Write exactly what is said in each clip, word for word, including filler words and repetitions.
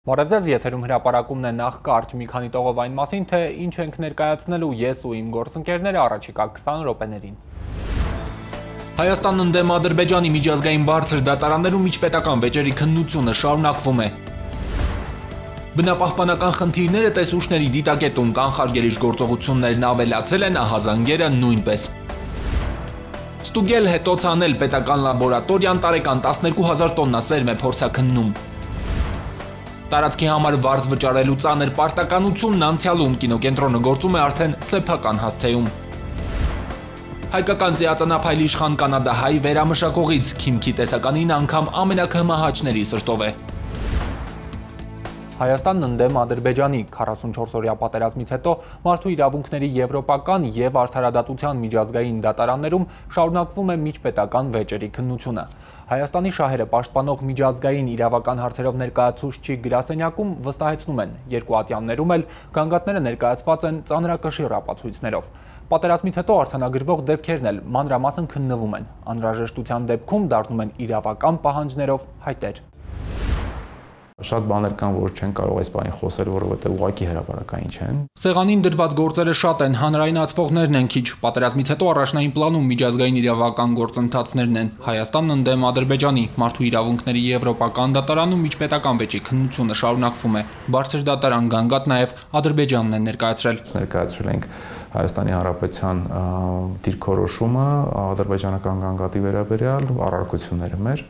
Բարև ձեզ, եթերում հրապարակումն է, նախ կարճ մի քանի տողով այն մասին, թե ինչ ենք ներկայացնելու ես ու իմ գործընկերները առաջիկա քսան րոպեներին։ Հայաստանն ընդդեմ Ադրբեջանի միջազգային բարձր դատարաններում միջպետական վեճերի քննությունը շարունակվում է։ Բնապահպանական խնդիրները տեսուչների դիտակետում կանխարգելիչ գործողություններն ավելացել են, ահազանգերը նույնպես։ Ստուգել հետոց անել պետական լաբորատորիան տարեկան տասներկու հազար տոննա սերմ է փորձաքննում։ Տարածքի համար վարձ վճարելու ծանր պարտականությունն անցյալում կինոկենտրոնը գործում է արդեն սեփական հասցեում։ Հայկական ծիածանափայլ իշխան կանադահայ վերամշակողից Քիմքի տեսականին անգամ ամենակհմահաճների սրտով է։ Հայաստանն ընդդեմ Ադրբեջանի քառասունչորս-օրյա պատերազմից հետո մարդու իրավունքների եվրոպական եւ արդարադատության միջազգային դատարաններում շարունակվում է միջպետական վեճերի քննությունը։ Հայաստանի շահերը պաշտպանող միջազգային իրավական հարցերով ներկայացուցչի գրասենյակում վստահեցնում են, երկու ատյաններում էլ գանգատները ներկայացված են ծանրակշիռ ապացույցներով։ Պատերազմից հետո արձանագրվող դեպքերն էլ մանրամասն քննվում են, անհրաժեշտության դեպքում դառնում են իրավական պահանջներով հայտեր։ Շատ բաներ կան, որ չեն կարող այս բանին խոսել, որովհետև ուղղակի հրապարակային չեն։ Սեղանին դրված գործերը շատ են, հանրայնացվողներն են քիչ, պատերազմից հետո առաջնային պլանում միջազգային իրավական գործընթացներն են։ Հայաստանն ընդդեմ Ադրբեջանի մարդու իրավունքների եվրոպական դատարանում միջպետական վեճի քննությունը շարունակվում է։ Բարձր դատարան գանգատ նաև Ադրբեջանն է ներկայացրել։ Ներկայացրել ենք Հայաստանի Հանրապետության դիրքորոշումը ադրբեջանական գանգատի վերաբերյալ, առարկությունները մեր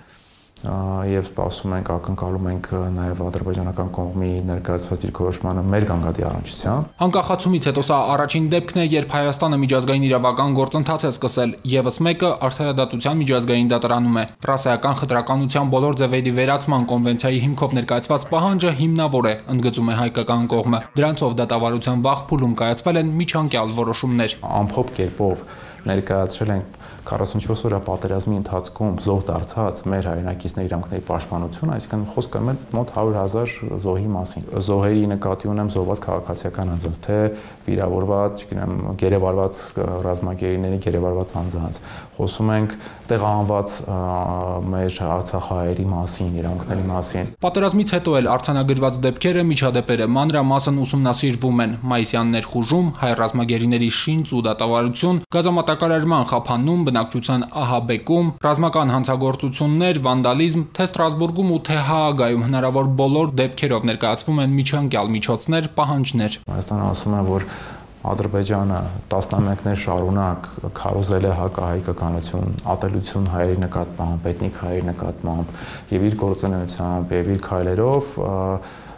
եւ սպասում ենք, ակնկալում ենք նաեւ ադրբեջանական կողմի ներկայացված դիրքորոշմանը մեր գանգատի առնչությամբ։ Անկախացումից հետո սա առաջին դեպքն է, երբ Հայաստանը միջազգային իրավական գործընթաց է սկսել, եւս մեկը արդարադատության միջազգային դատարանում է։ Ռասայական խտրականության բոլոր ձևերի վերացման կոնվենցիայի հիմքով ներկայացված պահանջը հիմնավոր է, ընդգծում է հայկական կողմը։ Դրանցով դատավարության վաղ փուլում կայացվել են միջանկյալ որոշումներ։ Ամփոփ կերպով ներկայացրել ենք քառասունչորս օրյա պատերազմի ընթացքում զոհ դարձած մեր հայրենակիցների իրավունքների պաշտպանությունը, այսինքն խոսքը մոտ հարյուր հազար զոհի մասին։ Զոհերի նկատի ունեմ զոհված քաղաքացիական անձանց, թե վիրավորված, չգիտեմ, գերեվարված ռազմագերիների գերեվարված անձանց։ Խոսում ենք տեղահանված մեր արցախահայերի մասին, իրավունքների մասին։ Պատերազմից հետո էլ արձանագրված դեպքերը, միջադեպերը մանրամասն ուսումնասիրվում են։ Մայիսյան ներխուժում, հայ ռազմագերիների շինծ ու դատավարություն, գազամատակարարման խափանում, բնակչության ահաբեկում, ռազմական հանցագործություններ, վանդալիզմ, թե Ստրասբուրգում ու թե Հաագայում հնարավոր բոլոր դեպքերով ներկայացվում են միջանկյալ միջոցներ, պահանջներ։ Հայաստանը ասում է, որ Ադրբեջանը տասնամյակներ շարունակ քարոզել է հակահայկականություն, ատելություն հայերի նկատմամբ, էթնիկ հայերի նկատմամբ եւ իր գործունեությամբ եւ իր քայլերով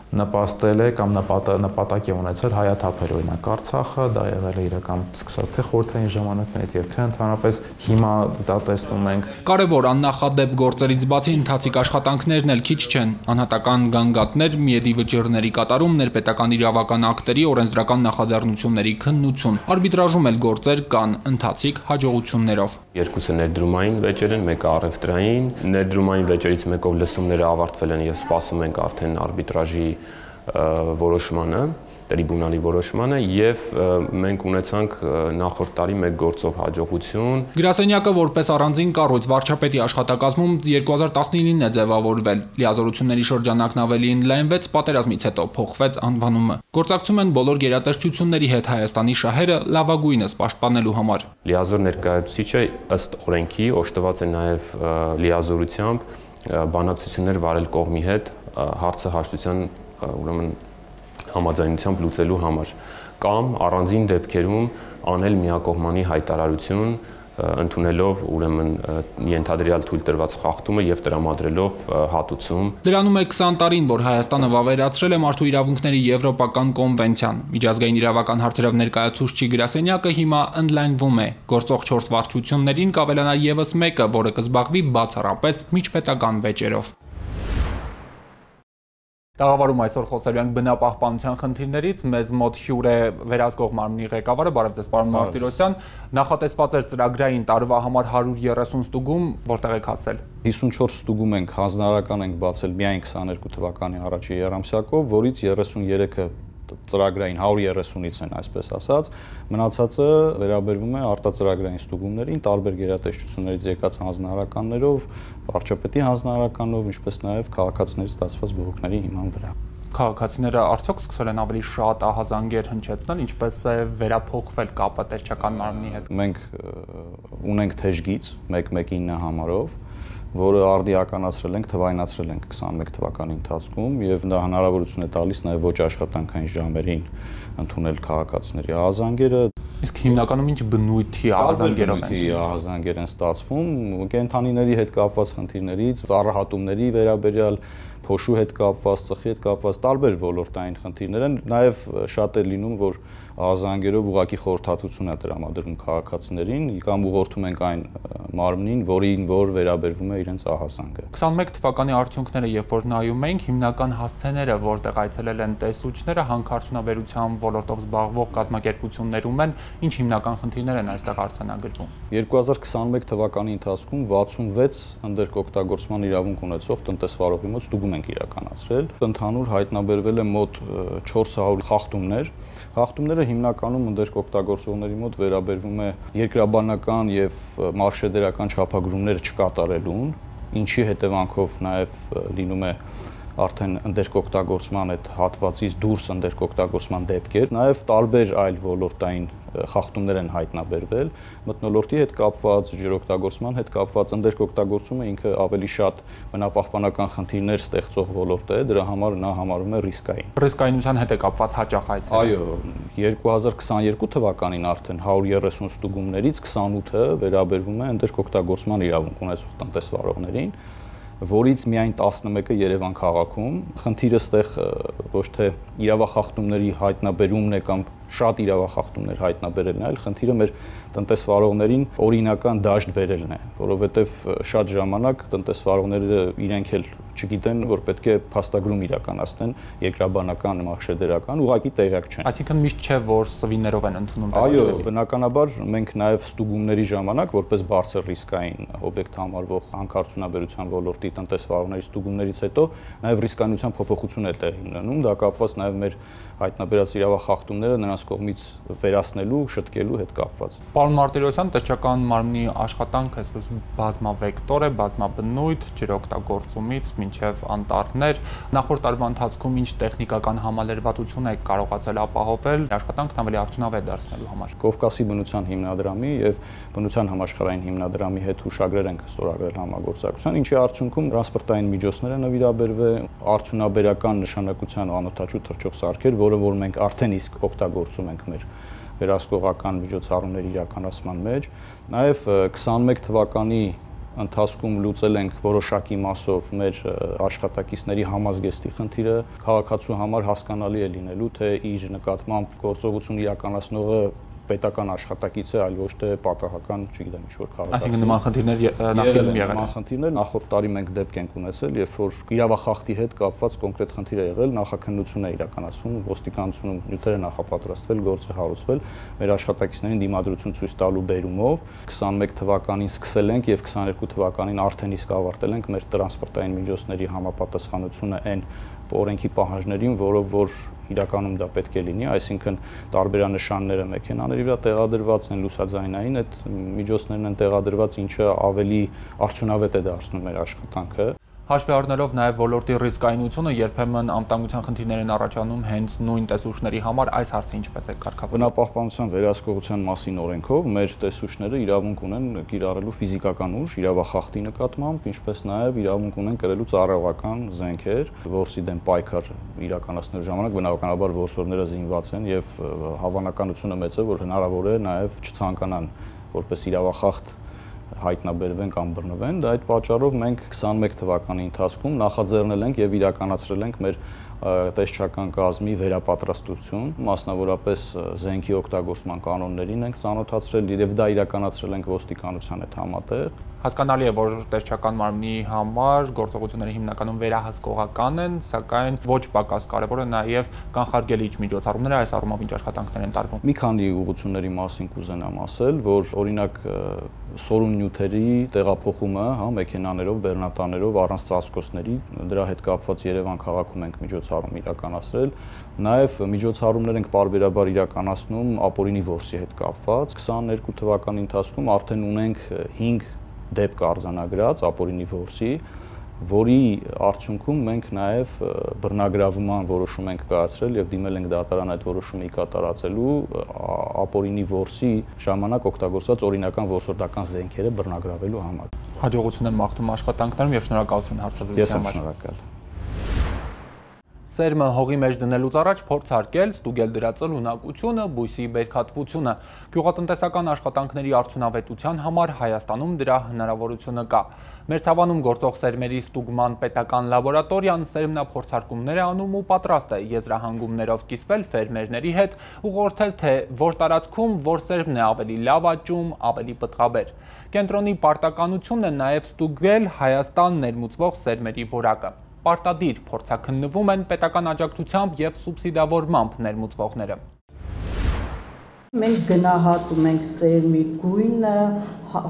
նպաստել է կամ նպատակ է ունեցել հայաթափել օրինակ Արցախը, դա եղել է իրական սկսած թե խորհրդային ժամանակներից եւ թե ընդհանրապես հիմա դա տեսնում ենք։ Կարևոր աննախադեպ գործերից բացի ընթացիկ աշխատանքներն էլ քիչ չեն։ Անհատական գանգատներ, միեդի վճիռների կատարում, ներպետական իրավական ակտերի, օրենսդրական նախաձեռնությունների քննություն։ Արբիտրաժում էլ գործեր կան ընթացիկ հաջողություններով։ Երկուսը ներդրումային վեճեր են, մեկը առևտրային։ Ներդրումային վեճերից մեկով լսումները ավարտվել են եւ սպասում ենք արդեն արբիտրաժի որոշմանը, տրիբունալի որոշմանը եւ մենք ունեցանք նախորդ տարի մեկ գործով հաջողություն։ Գրասենյակը որպես առանձին կառույց վարչապետի աշխատակազմում երկու հազար տասնինին է ձևավորվել։ Լիազորությունների շրջանակն ավելի ընդլայնվեց, պատերազմից հետո փոխվեց անվանումը։ Գործակցում են բոլոր գերատեսչությունների հետ Հայաստանի շահերը լավագույնս պաշտպանելու համար։ Լիազոր ներկայացուցիչը ըստ օրենքի օժտված է նաեւ լիազորությամբ բանակցություններ վարել կողմի հետ հարցը հաշտության ուրեմն համաձայնությամբ լուծելու համար կամ առանձին դեպքերում անել միակողմանի հայտարարություն ընդունելով ուրեմն ենթադրյալ թույլ տրված խախտումը եւ տրամադրելով հատուցում։ Դրանում է քսան տարին, որ Հայաստանը վավերացրել է մարդու իրավունքների եվրոպական կոնվենցիան։ Միջազգային իրավական հարցերով ներկայացուցչի գրասենյակը հիմա ընդլայնվում է։ Գործող չորս վարչություններին կավելանա եւս մեկը, որը կզբաղվի բացառապես միջպետական վեճերով։ Տաղավարում այսօր խոսելու ենք բնապահպանության խնդիրներից, մեզ մոտ հյուր է վերահսկող մարմնի ղեկավարը, բարև ձեզ պարոն Մարտիրոսյան, նախատեսված էր ծրագրային տարվա համար հարյուր երեսուն ստուգում, որտեղ եք հասել։ հիսունչորս ստուգում ենք, հանձնարարական ենք բացել միայն քսաներկու թվականի առաջի եռամսյակով, որից երեսուներեքը ծրագրային հարյուր երեսունից են, այսպես ասած, մնացածը վերաբերվում է արտածրագրային ստուգումներին, տարբեր գերատեսչություններից եկած հանձնարարականներով, վարչապետի հանձնարարականով, ինչպես նաև քաղաքացիներից ստացված բողոքների հիման վրա։ Քաղաքացիները արդյոք սկսել են ավելի շատ ահազանգեր հնչեցնել, ինչպես է վերափոխվել կապը տեսչական մարմնի հետ։ Մենք ունենք թեժգից մեկ մեկ ինը համարով, որը արդիականացրել ենք, թվայնացրել ենք քսանմեկ թվականի ընթացքում եւ դա հնարավորություն է տալիս նաեւ ոչ աշխատանքային ժամերին ընդունել քաղաքացիների ահազանգերը։ Իսկ հիմնականում ինչ բնույթի ահազանգերով են։ Ահազանգեր են ստացվում կենդանիների հետ կապված խնդիրներից, ծառահատումների վերաբերյալ, փոշու հետ կապված, ծխի հետ կապված տարբեր ոլորտային խնդիրներ են, նաեւ շատ է լինում, որ ահազանգերով ուղղակի խորհրդատվություն է տրամադրում քաղաքացիներին կամ ուղղորդում ենք այն մարմնին, որին որ վերաբերվում է իրենց ահազանգը։ քսանմեկ թվականի արդյունքները, երբ որ նայում ենք, հիմնական հասցեները, որտեղ այցելել են տեսուչները, հանքարդյունաբերության ոլորտով զբաղվող կազմակերպություններում են, ինչ հիմնական խնդիրներ են այստեղ արձանագրվում։ երկու հազար քսանմեկ թվականի ընթացքում վաթսունվեց ընդերկօգտագործման իրավունք ունեցող տնտեսվարողի մոտ ստուգում ենք իրականացրել։ Ընդհանուր հայտնաբերվել է մոտ չորս հարյուր խախտումներ։ Խախտումները հիմնականում ընդերկօգտագործողների մոտ վերաբերվում է երկրաբանական եւ մարշեդերական չափագրումներ չկատարելուն, ինչի հետևանքով նաեւ լինում է արդեն ընդերկօգտագործման այդ հատվածից դուրս ընդերկօգտագործման դեպքեր, նաեւ տարբեր այլ ոլորտային խախտումներ են հայտնաբերվել, մթնոլորտի հետ կապված, ջրօգտագործման հետ կապված ընդերկօգտագործումը ինքը ավելի շատ բնապահպանական խնդիրներ ստեղծող ոլորտ է, դրա համար նա համարվում է ռիսկային։ Ռիսկայնության հետ է կապված հաճախ այցեր։ Այո, երկու հազար քսաներկու թվականին արդեն հարյուր երեսուն ստուգումներից քսանութը վերաբերվում է ընդերկօգտագործման իրավունք ունեցող տնտեսվարողներին, որից միայն տասնմեկը Երևան քաղաքում։ Խնդիրը ստեղ ոչ թե իրավախախտումների հայտնաբերումն է կամ շատ իրավախախտումներ հայտնաբերելն է, այլ խնդիրը մեր տնտեսվարողներին օրինական դաշտ բերելն է, որովհետև շատ ժամանակ տնտեսվարողները իրենք էլ չգիտեն, որ պետք է փաստագրում իրականացնեն երկրաբանական, մարշեդերական, ուղղակի տեղյակ չեն։ Այսինքն միշտ չէ, որ սվիներով են ընդունում տեսուչների։ Այո, բնականաբար մենք նաև ստուգումների ժամանակ որպես բարձր ռիսկային օբյեկտ համարվող հանքարդյունաբերության ոլորտի տնտեսվարողների ստուգումներից հետո նաև ռիսկայնության փոփոխություն է տեղի ունենում, դա կապված նաև մեր հայտնաբերած իրավախախտումները նրանց կողմից վերացնելու, շտկելու հետ կապված։ Պարոն Մարտիրոսյան, տեսչական մարմնի աշխատանքը այսպես բազմավեկտոր է, բազմաբնույթ, ջրօգտագործումից մինչև անտառներ։ Նախորդ տարվա ընթացքում ինչ տեխնիկական համալրվածություն է կարողացել ապահովել աշխատանքն ավելի արդյունավետ դարձնելու համար։ Կովկասի բնության հիմնադրամի եւ բնության համաշխարհային հիմնադրամի հետ հուշագրեր ենք ստորագրել համագործակցության, ինչի արդյունքում տրանսպորտային միջոցներ են նվիրաբերվել, արդյունաբերական նշանակության անօթաչու թռչող սարքեր, որը որ մենք արդեն իսկ օգտագործում ենք մեր վերահսկողական միջոցառումների իրականացման մեջ։ Նաև քսանմեկ թվականի ընթացքում լուծել ենք որոշակի մասով մեր աշխատակիցների համազգեստի խնդիրը, քաղաքացու համար հասկանալի է լինելու, թե իր նկատմամբ գործողություն իրականացնողը պետական աշխատակից է, այլ ոչ թե պատահական, չգիտեմ, ինչ-որ քաղաքացի։ Այսինքն նման խնդիրներ նախկինում եղել են։ Նման խնդիրներ նախորդ տարի մենք դեպք ենք ունեցել, երբ որ իրավախախտի հետ կապված կոնկրետ խնդիր է եղել, նախաքննություն է իրականացվում, ոստիկանությունում նյութերը նախապատրաստվել, գործը հարուցվել, մեր աշխատակիցներին դիմադրություն ցույց տալու բերումով քսանմեկ թվականին սկսել ենք եւ քսաներկու թվականին արդեն իսկ ավարտել ենք մեր տրանսպորտային միջոցների համապատասխանությունը այն օրենքի պահանջներին, որով որ իրականում դա պետք է լինի, այսինքն տարբերանշանները մեքենաների վրա տեղադրված են, լուսաձայնային այդ միջոցներն են տեղադրված, ինչը ավելի արդյունավետ է դարձնում մեր աշխատանքը։ Հաշվի առնելով նաև ոլորտի ռիսկայնությունը, երբեմն անվտանգության խնդիրներ են առաջանում հենց նույն տեսուչների համար, այս հարցը ինչպես է կարգավորվում։ Բնապահպանության վերահսկողության մասին օրենքով մեր տեսուչները իրավունք ունեն կիրառելու ֆիզիկական ուժ իրավախախտի նկատմամբ, ինչպես նաև իրավունք ունեն կրելու ծառայողական զենքեր, որսի դեմ պայքար իրականացնելու ժամանակ բնականաբար որսորդները զինված են եւ հավանականությունը մեծ է, որ հնարավոր է նաև չցանկանան որպես իրավախախտ հայտնաբերվեն կամ բռնվեն, դա այդ պատճառով մենք քսանմեկ թվականի ընթացքում նախաձեռնել ենք եւ իրականացրել ենք մեր տեսչական կազմի վերապատրաստություն, մասնավորապես զենքի օգտագործման կանոններին ենք ծանոթացրել եւ դա իրականացրել ենք ոստիկանության հետ համատեղ։ Հասկանալի է, որ տեսչական մարմնի համար գործողությունները հիմնականում վերահսկողական են, սակայն ոչ պակաս կարևոր է նաև կանխարգելիչ միջոցառումները, այս առումով ինչ աշխատանքներ են տարվում։ Մի քանի ուղղությունների մասին կուզենամ ասել, որ օրինակ սորուն նյութերի տեղափոխումը, հա, մեքենաներով, բեռնատաներով, առանց ծածկոցների, դրա հետ կապված Երևան քաղաքում ենք միջոցառում իրականացրել, նաև միջոցառումներ ենք պարբերաբար իրականացնում ապօրինի որսի հետ կապված։ քսաներկու թվականի ընթացքում արդեն ունենք հինգ դեպք արձանագրած ապօրինի որսի, որի արդյունքում մենք նաև բռնագրավման որոշում ենք կայացրել եւ դիմել ենք դատարան այդ որոշումը կատարածելու ապօրինի որսի ժամանակ օգտագործված օրինական որսորդական զենքերը բռնագրավելու համար։ Հաջողություն եմ մաղթում աշխատանքներում եւ շնորհակալություն հարցազրույցի համար։ Ես եմ շնորհակալ։ Սերմը հողի մեջ դնելուց առաջ փորձարկել, ստուգել դրա ծլունակությունը, բույսի բերքատվությունը։ Գյուղատնտեսական աշխատանքների արդյունավետության համար Հայաստանում դրա հնարավորությունը կա։ Մերձավանում գործող սերմերի ստուգման պետական լաբորատորիան սերմնափորձարկումներ է անում ու պատրաստ է եզրահանգումներով կիսվել ֆերմերների հետ, ուղղորդել թե որ տարածքում որ սերմն է ավելի լավ աճում, ավելի պտղաբեր։ Կենտրոնի պարտականությունն է նաև ստուգել Հայաստան ներմուծվող սերմերի որակը։ Պարտադիր փորձաքննվում են պետական աջակցությամբ եւ սուբսիդավորմամբ ներմուծվողները։ Մենք գնահատում ենք սերմի գույնը,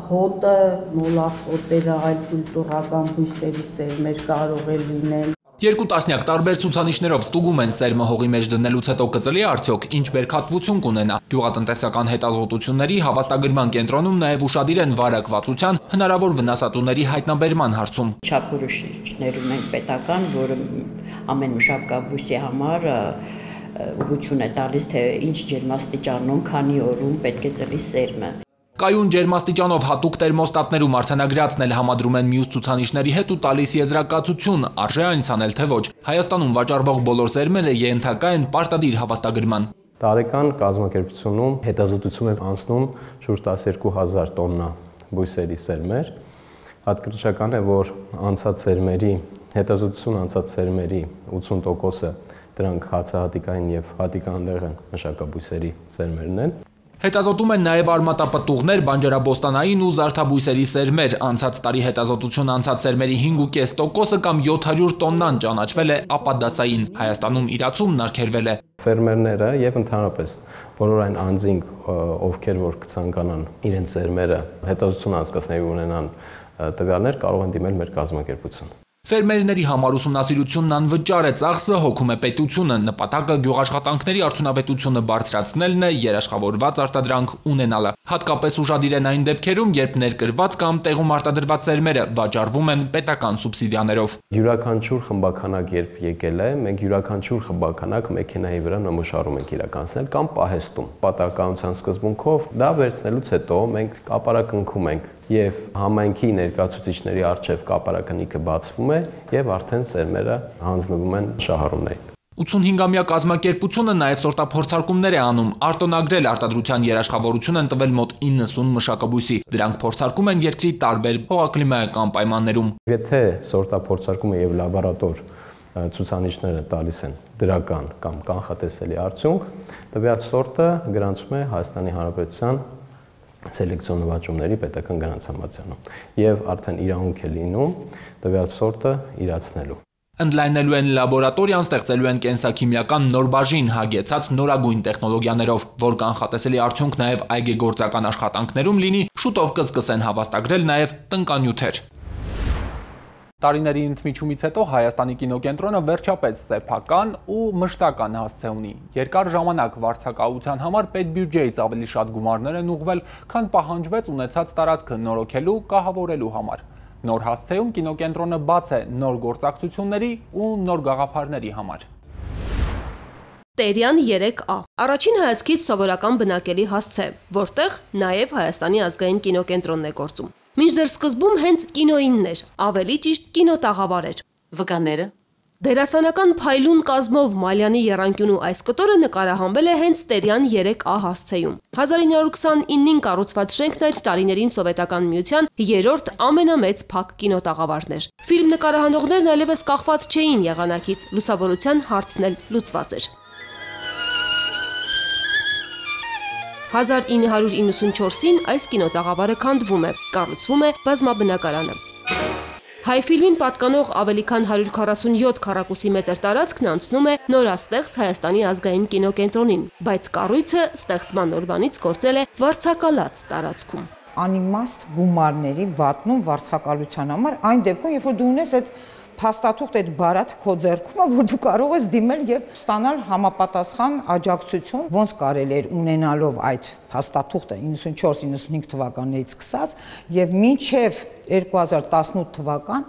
հոտը, մոլախոտերը, այլ կուլտուրական բույսերի սերմեր կարող է լինել։ Երկու տասնյակ տարբեր ցուցանիշներով ստուգում են սերմը հողի մեջ դնելուց հետո կծլի արդյոք ինչ բերքատվություն կունենա։ Գյուղատնտեսական հետազոտությունների հավաստագրման կենտրոնում նաև ուշադիր են վարակվածության հնարավոր վնասատուների հայտնաբերման հարցում։ Չափորոշիչներում ենք պետական, որը ամեն մշակաբույսի համար ուղղություն է տալիս, թե ինչ ջերմաստիճանում, քանի օրում պետք է ծլի սերմը։ Կայուն ջերմաստիճանով հատուկ տերմոստատներում արձանագրածն էլ համադրում են մյուս ցուցանիշների հետ ու տալիս եզրակացություն, արժե այնց անել թե ոչ։ Հայաստանում վաճառվող բոլոր սերմերը ենթակա են պարտադիր հավաստագրման։ Տարեկան կազմակերպությունում հետազոտություն են անցնում շուրջ տասներկու հազար տոննա բույսերի սերմեր։ Հատկացական է, որ անցած սերմերի, հետազոտություն անցած սերմերի ութսուն տոկոսը դրանք հացահատիկային եւ հատիկանդեղեն մշակաբույսերի սերմերն են։ Հետազոտում են նաև արմատապտուղներ, բանջարաբոստանային ու զարդաբույսերի սերմեր։ Անցած տարի հետազոտություն անցած սերմերի հինգ ու կես տոկոսը կամ յոթ հարյուր տոննան ճանաչվել է ապադասային։ Հայաստանում իրացումն արգելվել է։ Ֆերմերները եւ ընդհանրապես բոլոր այն անձինք, ովքեր որ կցանկանան իրենց սերմերը հետազոտություն անցկացնելու ունենան տվյալներ, կարող են դիմել մեր կազմակերպություն։ Ֆերմերների համար ուսումնասիրությունն անվճար է, ծախսը հոգում է պետությունը, նպատակը գյուղաշխատանքների արդյունավետությունը բարձրացնելն է, երաշխավորված արտադրանք ունենալը։ Հատկապես ուշադիր են այն դեպքերում, երբ ներկրված կամ տեղում արտադրված սերմերը վաճառվում են պետական սուբսիդիաներով։ Յուրաքանչյուր խմբականակ երբ եկել է, մենք յուրաքանչյուր խմբականակ մեքենայի վրա նմուշարում ենք իրականացնել կամ պահեստում։ Պատահականության սկզբունքով դա վերցնելուց հետո մենք կապարակնքում ենք եւ համայնքի ներկայացուցիչների արչեւ կապարակնիկը բացվում է եւ արդեն սերմերը հանձնվում են շահառուներին։ ութսունհինգամյա կազմակերպությունը նաև սորտափորձարկումներ է անում, արտոնագրել արտադրության երաշխավորություն են տվել մոտ իննսուն մշակաբույսի։ Դրանք փորձարկում են երկրի տարբեր հողակլիմայական պայմաններում։ Եթե սորտափորձարկումը եւ լաբորատոր ցուցանիշները տալիս են դրական կամ կանխատեսելի արդյունք, տվյալ սորտը գրանցվում է Հայաստանի Հանրապետության սելեկցիոն նվաճումների պետական գրանցամատյանում եւ արդեն իրավունք է լինում տվյալ սորտը իրացնելու։ Ընդլայնելու են լաբորատորիան, ստեղծելու են կենսաքիմիական նոր բաժին հագեցած նորագույն տեխնոլոգիաներով, որ կանխատեսելի արդյունք նաև այգեգործական աշխատանքներում լինի, շուտով կսկսեն հավաստագրել նաև տնկանյութեր։ Տարիների ընդմիջումից հետո Հայաստանի կինոկենտրոնը վերջապես սեփական ու մշտական հասցե ունի։ Երկար ժամանակ վարձակալության համար պետբյուջեից ավելի շատ գումարներ են ուղղվել, քան պահանջվեց ունեցած տարածքը նորոգելու, կահավորելու համար։ Նոր հասցեում կինոկենտրոնը բաց է նոր գործակցությունների ու նոր գաղափարների համար։ Տերյան երեք A առաջին հայացքից սովորական բնակելի հասցե, որտեղ նաև Հայաստանի ազգային կինոկենտրոնն է գործում։ Մինչդեռ սկզբում հենց կինոինն էր, ավելի ճիշտ կինոտաղավար էր։ Վկաները Դերասանական փայլուն կազմով Մալյանի եռանկյունու այս կտորը նկարահանվել է հենց Տերյան երեք A հասցեում։ հազար ինը հարյուր քսանինին կառուցված շենքն այդ տարիներին Սովետական միության երրորդ ամենամեծ փակ կինոտաղավարն էր։ Ֆիլմ նկարահանողներն այլևս կախված չէին եղանակից, լուսավորության հարցն էլ լուծված էր։ հազար ինը հարյուր իննսունչորսին այս կինոտաղավարը քանդվում է, կառուցվում է բազմաբնակարանը։ Հայ ֆիլմին պատկանող ավելի քան հարյուր քառասունյոթ քառակուսի մետր տարածքն անցնում է նորաստեղծ Հայաստանի ազգային կինոկենտրոնին, բայց կառույցը ստեղծման օրվանից գործել է վարձակալած տարածքում։ Անիմաստ գումարների վատնում վարձակալության համար այն դեպքում, երբ որ դու ունես այդ փաստաթուղթ այդ բարաթ քո ձեռքում, որ դու կարող ես դիմել եւ ստանալ համապատասխան աջակցություն, ոնց կարելի էր ունենալով այդ փաստաթուղթը իննսունչորս իննսունհինգ թվականներից սկսած եւ մինչեւ երկու հազար տասնութ թվական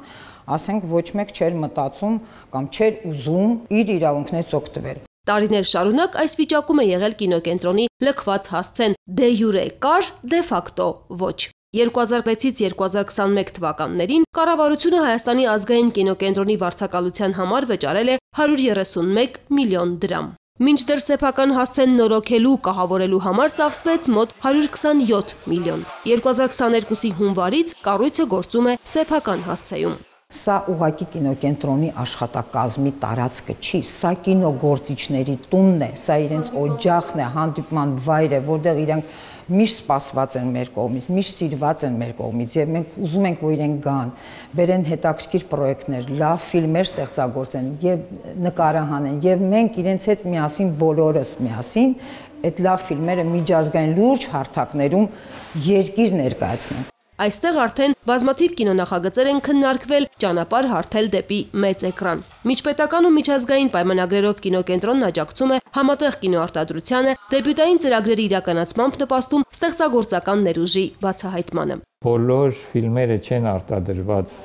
ասենք ոչ մեկ չէր մտածում կամ չէր ուզում իր իրավունքներից օգտվել։ Տարիներ շարունակ այս վիճակում է եղել կինոկենտրոնի լքված հասցեն՝ դե յուրե կար, դե ֆակտո ոչ։ երկու հազար վեցից երկու հազար քսանմեկ թվականներին կառավարությունը Հայաստանի ազգային կինոկենտրոնի վարձակալության համար վճարել է հարյուր երեսունմեկ միլիոն դրամ։ Մինչդեռ սեփական հասցեն նորոգելու, կահավորելու համար ծախսվեց մոտ հարյուր քսանյոթ միլիոն։ երկու հազար քսաներկուսի հունվարից կառույցը գործում է սեփական հասցեում։ Սա ուղակի կինոկենտրոնի աշխատակազմի տարածքը չի, սա կինոգործիչների տունն է, սա իրենց օջախն է, հանդիպման վայր է, որտեղ իրենք միշտ սպասված են մեր կողմից, միշտ սիրված են մեր կողմից եւ մենք ուզում ենք, որ իրենք գան, բերեն հետաքրքիր պրոյեկտներ, լավ ֆիլմեր ստեղծագործեն եւ նկարահանեն եւ մենք իրենց հետ միասին բոլորս միասին այդ լավ ֆիլմերը միջազգային լուրջ հարթակներում երկիր ներկայացնենք։ Այստեղ արդեն բազմաթիվ կինոնախագծեր են քննարկվել ճանապարհ հարթել դեպի մեծ էկրան։ Միջպետական ու միջազգային պայմանագրերով կինոկենտրոնն աջակցում է համատեղ կինոարտադրությանը, դեբյուտային ծրագրերի իրականացմամբ նպաստում ստեղծագործական ներուժի բացահայտմանը։ Բոլոր ֆիլմերը չեն արտադրված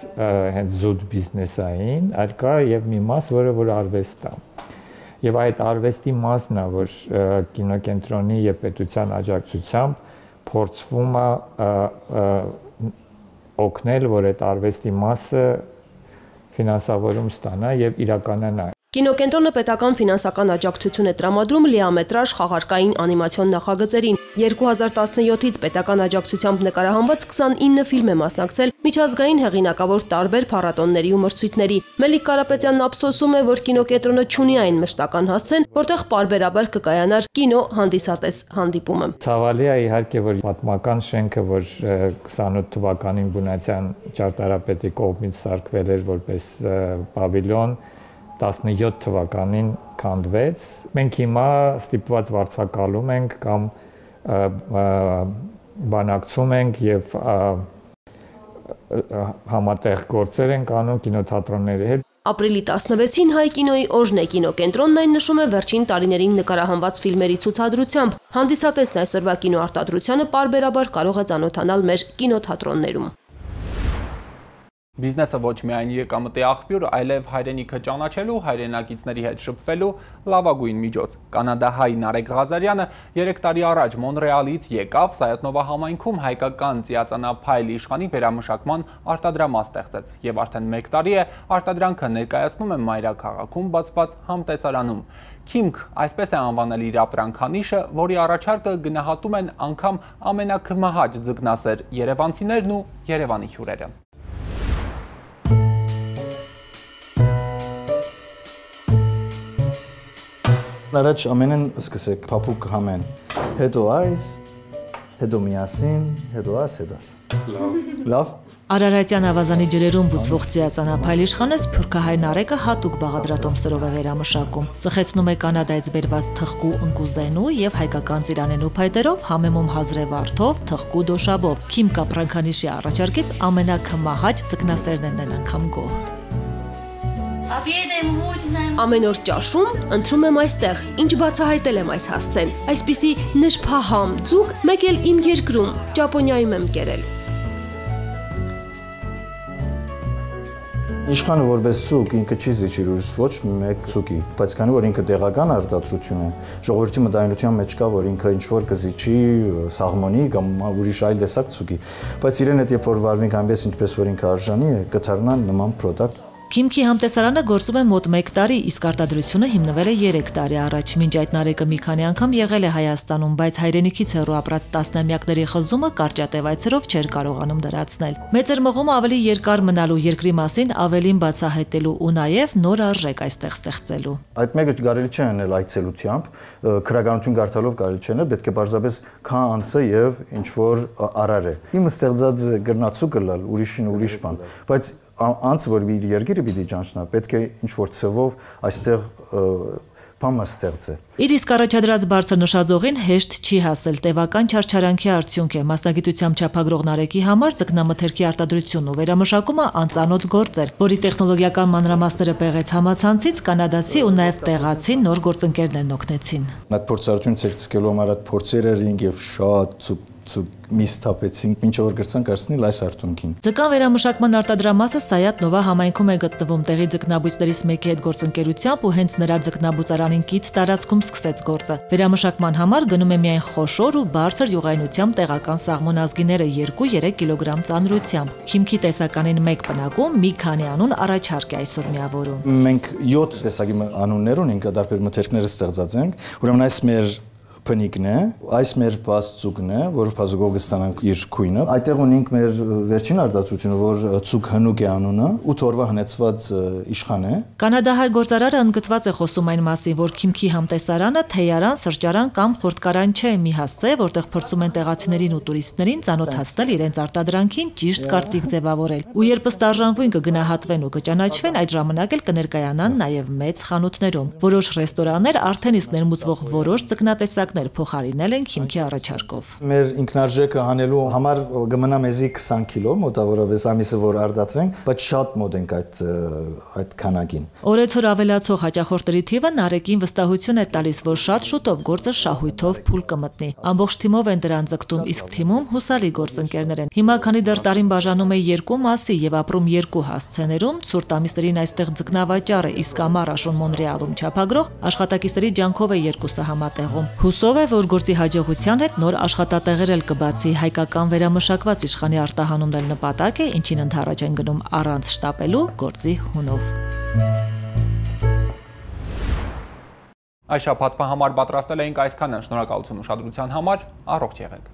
հենց զուտ բիզնեսային, այլ կա եւ մի մաս, որը որ արվեստ է։ Եվ այդ արվեստի մասն է, որ կինոկենտրոնի եւ պետության աջակցությամբ փորձվում է օգնել, որ այդ արվեստի մասը ֆինանսավորում ստանա եւ իրականանա։ Կինոկենտրոնը պետական ֆինանսական աջակցություն է տրամադրում լիամետրաժ խաղարկային անիմացիոն նախագծերին։ երկու հազար տասնյոթից պետական աջակցությամբ նկարահանված քսանինը ֆիլմ է մասնակցել միջազգային հեղինակավոր տարբեր փառատոների ու մրցույթների։ Մելիք Կարապետյանն ափսոսում է, որ կինոկենտրոնը չունի այն մշտական հասցեն, որտեղ պարբերաբար կկայանար կինո հանդիսատես հանդիպումը։ Ցավալի է իհարկե, որ պատմական շենքը, որ քսանութ թվականին բունացյան ճարտարապետի կողմից սարքվել էր որպես պավիլիոն, տասնյոթ թվականին քանդվեց։ Մենք հիմա ստիպված վարձակալում ենք կամ բանակցում ենք եւ համատեղ գործեր ենք անում կինոթատրոնների հետ։ Ապրիլի տասնվեցին Հայ կինոյի օրն է, կինոկենտրոնն այն նշում է վերջին տարիներին նկարահանված ֆիլմերի ցուցադրությամբ։ Հանդիսատեսն այսօրվա կինոարտադրությանը պարբերաբար կարող է ծանոթանալ մեր կինոթատրոններում։ Բիզնեսը ոչ միայն եկամտի աղբյուր, այլև հայրենիքը ճանաչելու, հայրենակիցների հետ շփվելու լավագույն միջոց։ Կանադահայ Նարեկ Ղազարյանը երեք տարի առաջ Մոնրեալից եկավ, Սայաթնովա համայնքում հայկական ծիածանափայլ իշխանի վերամշակման արտադրամաս ստեղծեց եւ արդեն մեկ տարի է արտադրանքը ներկայացնում է մայրաքաղաքում բացված համտեսարանում։ Քիմք, այսպես է անվանել իր ապրանքանիշը, որի առաջարկը գնահատում են անգամ ամենակմահաճ ձկնասեր երևանցիներն ու Երևանի հյուրերը։ Առաջ ամենեն սկսեք փափուկ համեն, հետո այս, հետո միասին, հետո աս, հետո աս։ Լավ։ Լավ։ Արարատյան ավազանի ջրերում բուծվող ծիածանափայլ իշխանը Սփյուռքահայ Նարեկը հատուկ բաղադրատոմսերով է վերամշակում։ Ծխեցնում է կանադայից բերված թխկու ընկուզենու եւ հայկական ծիրանենու փայտերով, համեմում հազրե վարդով, թխկու դոշաբով։ Քիմք ապրանքանիշի առաջարկից ամենակմահաճ ձկնասերներն են անգամ գոհ։ Ամեն օր ճաշում ընտրում եմ այստեղ, ինչ բացահայտել եմ այս հասցեն։ Այսպիսի նշփահամ ձուկ մեկ էլ իմ երկրում, Ճապոնիայում եմ կերել։ Իշխանը որպես ցուկ ինքը չի զիջիր ոչ մեկ ցուկի, բայց քանի որ ինքը տեղական արտադրություն է, ժողովրդի մտայնության մեջ կա, որ ինքը ինչ որ կզիջի սաղմոնի կամ ուրիշ այլ տեսակ ցուկի, բայց իրեն հետ երբ որ վարվենք այնպես ինչպես որ ինքը արժանի է, կդառնան նման product։ Քիմքի համտեսարանը գործում է մոտ մեկ տարի, իսկ արտադրությունը հիմնվել է երեք տարի առաջ։ Մինչ այդ Նարեկը մի քանի անգամ եղել է Հայաստանում, բայց հայրենիքից հեռու ապրած տասնամյակների խզումը կարճատև այցերով չէր կարողանում դրացնել։ Մեծեր մղումը ավելի երկար մնալու, երկրի մասին ավելին բացահայտելու ու նաև նոր արժեք այստեղ ստեղծելու։ Այդ մեկը կարելի չէ անել այցելությամբ, քրագանություն գարտալով կարելի չէ անել, պետք է պարզապես քան անցը եւ ինչ որ արար է։ Իմը ստեղծած գրնացուկը լալ, ուրիշին ուրիշ բան, բայց անց որ իր երկիրը պիտի ճանչնա, պետք է ինչ-որ ցևով այստեղ բան ստեղծե։ Իր իսկ առաջադրած բարձր նշաձողին հեշտ չի հասել, տևական չարչարանքի արդյունք է։ Մասնագիտությամբ չափագրող Նարեկի համար ձկնամթերքի արտադրությունն ու վերամշակումը անծանոթ գործ էր, որի տեխնոլոգիական մանրամասները պեղեց համացանցից, կանադացի ու նաև տեղացի նոր գործընկերներն օգնեցին։ Այդ փորձառությունը ցերցկելու համար այդ փորձերը ռինգ եւ շատ միս թափեցինք, ինչ որ գրցանք արցնել այս արդյունքին։ Ձկան վերամշակման արտադրամասը Սայաթ Նովա համայնքում է գտնվում, տեղի ձկնաբույսներից մեկի հետ գործընկերությամբ ու հենց նրա ձկնաբուծարանին կից տարածքում սկսեց գործը։ Վերամշակման համար գնում է միայն խոշոր ու բարձր յուղայնությամբ տեղական սաղմոն ազգիները երկու-երեք կիլոգրամ ծանրությամբ։ Հիմքի տեսականին մեկ պնակում մի քանի անուն առաջարկ է այսօր միավորում։ Մենք յոթ տեսակի անուններ ունենք, դարբեր մթերքները ստեղծած ենք, ուրեմն այս մեր փնիկն է, այս մեր բացծուկն է, որը բազուկով կստանանք իր քույնը։ Այդտեղ ունենք մեր վերջին արտադրությունը, որ ցուկ հնուկ է անունը, ութ օրվա հնեցված իշխան է։ Կանադահայ գործարարը ընդգծված է խոսում այն մասին, որ Քիմքի համտեսարանը թեյարան, սրճարան կամ խորտկարան չէ, մի հասցե, որտեղ փորձում են տեղացիներին ու տուրիստներին ծանոթացնել իրենց արտադրանքին ճիշտ կարծիք ձևավորել։ Ու երբ ստարժանվույն կգնահատվեն ու կճանաչվեն, այդ ժամանակ էլ կներկայանան նաև մեծ խանութներում։ Որոշ ռեստորաններ արդեն իսկ ներմուծվող որոշ ձկնատեսակ փոխարինել են Քիմքի առաջարկով։ Մեր ինքնարժեքը հանելու համար կմնա մեզի քսան կիլո, մոտավորապես ամիսը որ արդատրենք, բայց շատ մոտ ենք այդ այդ քանակին։ Օրեցօր ավելացող հաճախորդների թիվը Նարեկին վստահություն է տալիս, որ շատ շուտով գործը շահույթով փուլ կմտնի։ Ամբողջ թիմով են դրան ձգտում, իսկ թիմում հուսալի գործընկերներ են։ Հիմա քանի դեռ տարին բաժանում է երկու մասի եւ ապրում երկու հասցեներում, ցուրտ ամիսներին այստեղ ձկնավաճառը իսկ ամառ Աշոն Մոնրեալում չափագրող աշխատակիցների ջանքով է երկուսը համատեղում։ Հուսով է, որ գործի հաջողության հետ նոր աշխատատեղեր էլ կբացի, հայկական վերամշակված իշխանի արտահանումն էլ նպատակ է, ինչին ընդառաջ են գնում առանց շտապելու գործի հունով։ Այս շաբաթվա համար պատրաստել էինք այսքանը, շնորհակալություն ուշադրության համար, առողջ եղեք։